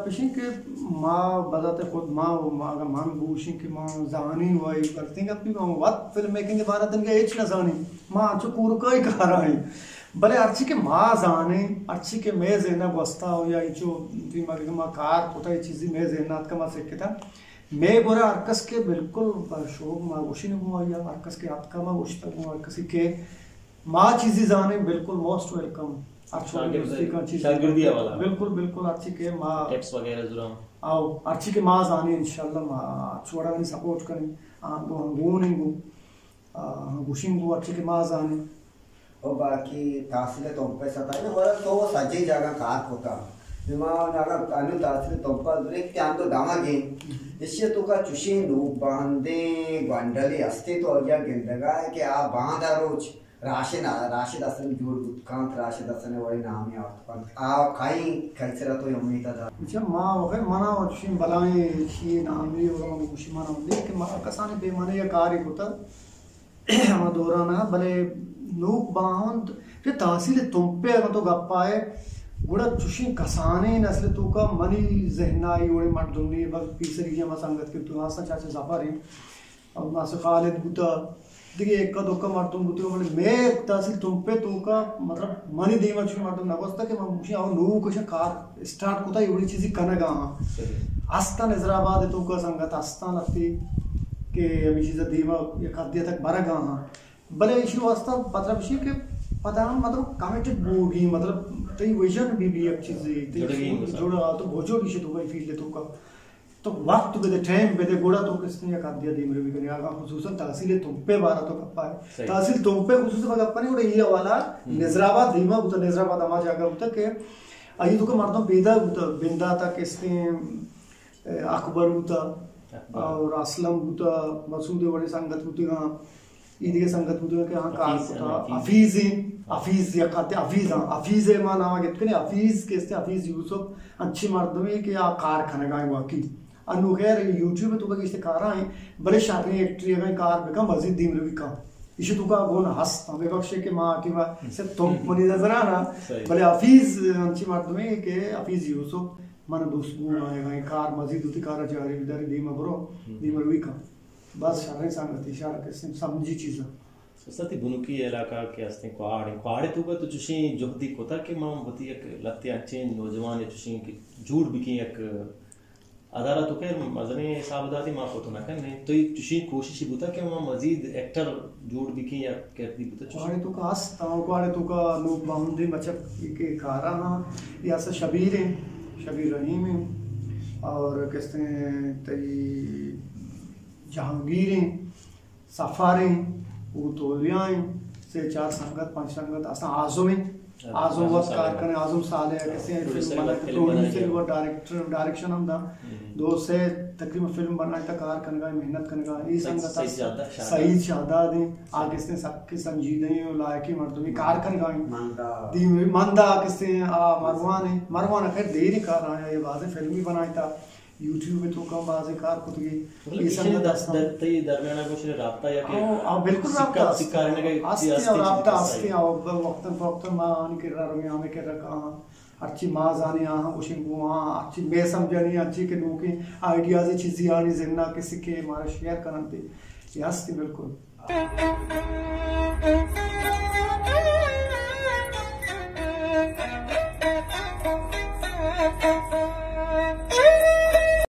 اشیں کہ ما بذات خود ما، ما اگر من بوشیں کہ ما زانیں و اے غلطیں گپی، ما وت فلم میکنگ بارہ دنگا ہچ نہ زانیں، ما انچو کورکائی کارا ایں۔ بلے ہرچی کہ ما زانیں، ہرچی کہ مئے ذہنا گوستا ہو یا انچو دیما کہ ما کار کتا، اے چیزی مئے ذہنا اتکا، ما سکتا۔ مئے گورا ہر کس کہ بالکل شوق ما گوشیں گوں آیا، ہر کس کہ اتکا ما گوشتا گوں ہر کسی کہ ما چیزی زانیں، بالکل موسٹ ویلکم۔ ہر چوڑی شاگرد-، دوستی کا چیزی شاگردی حوالہ۔ بالکل، بالکل، ہرچی کہ ما ٹپس وغیرہ زوراں۔ آؤ، ہرچی کہ ما زانیں، انشاءاللہ ما ہر چوڑا سپورٹ کنیں۔ آ، گو ہم گون ہیں گو۔ آ، گوشیں گو ہرچی کہ ما زانیں۔ او باقی تحصیل تمپ ءِ ستا نا، ولا تو سجیں جاگہ کار کتا۔ ما اگاں انو تحصیل تمپ ءَ زوریں کہ انو دمگیں، ایشی ءِ توکا چوشیں نوک باندیں گونڈلے ہستیں، تو آئی ءَ گندگا ئے کہ آ باندا روچ راشد، راشد حسن جوڑ بوت کنت، راشد حسن ءِ وڑیں نامے آورت کنت۔ آ کئی کلچر ءَ تو امیت ءَ دار؟ اچھا، ما وقت منا چوشیں بلائیں چیئے نامے و من گوشی منا اندے کہ ما کسانیں پیمانے یا کارے کتا۔ ہما دوران ءَ، بلے نوک باہند کہ تحصیل تمپ ءِ اگاں تو گپ ءَ ئے، گڑا چوشیں کسانیں نسل ءِ توکا منی ذہن ءَ اے وڑیں مردم نی، بلکہ پیسری ہما سنگت کہ تو آسا چاچا ظفر ایں، اور ناصر خالد بوتا، دگہ اکا دکا مردم بوتگ، بلے مئے تحصیل تمپ ءِ توکا، مطلب، منی دیم ءَ چوشیں مردم نہ گوستا کہ من گوشیں او نوک اش کار اسٹارٹ کتا، اے وڑیں چیزے کنگا آں۔ صحیح۔ ہستاں نظر آباد ءِ توکا سنگت ہستاں لہتے کہ ہمے چیز ءَ دیم ءَ یک حدے تک برگا آں۔ بلے ایشی واسطہ مطلب ایشی کہ پدا ہم مطلب کمیٹڈ بوگی، مطلب تئی ویژن بی بی یک چیزے، تئی جڑگی سوچ مثال۔ جڑا تو بوجو ایشی توکا، فیلڈ ءِ توکا۔ تو وقت بدے، ٹائم بدے، گڑا تو کستے یک حدے دیم روی کنی۔ اگاں خصوصاً تحصیل تمپ ءِ بارہ تو گپ ءَ ئے۔ صحیح۔ تحصیل تمپ ءِ خصوصاً گپ کنی، گڑا اے حوالہ ہم۔ نظر آباد دیما بوتا، نظر آباد ہما جاگہ بوتا کہ آئی توکا مردم پیدا بوتا، بندات ءَ کستے اکبر بوتا اکبر۔ اور اسلم بوتا، مسعود ءِ وڑیں سنگت بوتگاں، اے دگہ سنگت بوتگاں کہ آہاں کار حفیظ، کتا۔ حفیظ۔ حفیظ ایں، حفیظ یک آتے، حفیظ، ہاں، حفیظ ءِ ما نام گپت کنیں، حفیظ کستے، حفیظ یوسف انچیں مردمے کہ آ کار کنگا ایں واقعی۔ انو خیر یوٹیوب ءِ توکا گیشتر کارا ایں، بلے شریں ایکٹرے اگاں کار بکن مزید دیم روی کن۔ ایشی توکا گون ہست، ہمے بخشے کہ ما ٹیما صرف تمپ منی نظرا نا، صحیح۔ بلے حفیظ انچیں مردمے کہ حفیظ یوسف من دوست گون آں، اگاں اے کار مزید وتی کار ءَ جاری بداری، دیم ءَ برو، ہم۔ دیم ءَ روی کن۔ بس شریں سنگتی، شر کسیں سمجھی چیزاں۔ استاد، تئی بنکی علاقہ کہ ہستیں کواڑ ایں، کواڑ ءِ توکا تو چوشیں جہدی کتا کہ ما وتی یک لہتے انچیں نوجوانے چوشیں کہ جوڑ بکیں یک ادارہ، تو خیر مزنیں حساب داتی ما کت نہ کنیں، تو اے چوشیں کوششی بوتا کہ ما مزید ایکٹر جوڑ بکیں یا کردی بوتا چوشیں؟ کواڑ ءِ توکا ہست، ہاں، کواڑ ءِ توکا نوک باہندیں بچک کہ کارا ہاں، اے ہست شبیر ایں، شبیر رحیم ایں، اور کستے تئی جہانگیر ایں، سفر ایں، او تولیا ایں، سے چار سنگت، پنچ سنگت، اصلاً اعظم ایں۔ اعظم اعظم وت صالح۔ کار کنے، اعظم صالح کسے ایں، پروڈیوسر فلم بنائے، وت فلم بنائے۔ پروڈیوسر وت ڈائریکٹر، ڈائریکشن ہم دا۔ ہم۔ دو سے تقریباً فلم بنائے تا کار کنگا، محنت کنگا۔ اے سعید، سنگت سعید اس-، شہداد۔ سعید شہداد ایں، آ سعید۔ کسے سک سنجیدہ ایں و لائقیں مردمے کار کنگا ایں۔ مندا۔ دیم-، مندا کسے آ مروان ایں۔ مروان خیر دیر کار آیا، اے بازیں فلمی بنائے تا۔ یوٹیوب ءِ توکا بازیں کار کتگی۔ مطلب، اے ایشی سنگت در-، ہستاں۔ در-، تئی درمیان ءَ گوشے رابطہ یا کہ آؤ، آؤ، بالکل سکا-، رابطہ سکارینگ ءِ ہستیں، ہستی چیز رابطہ کسا ہستیں، ہے؟ آؤ، وقتاً فوقتاً ما آنی کرا رویں، ہمے کرا کاہاں، ہرچی ما زانیں آہاں گوشیں گوں آہاں، ہرچی مئے سمجھانی، ہرچی کہ نوکیں آئیڈیازے چیزے آنی ذہنا کہ سکے مارا شیئر کننتے، اے ہستی بالکل۔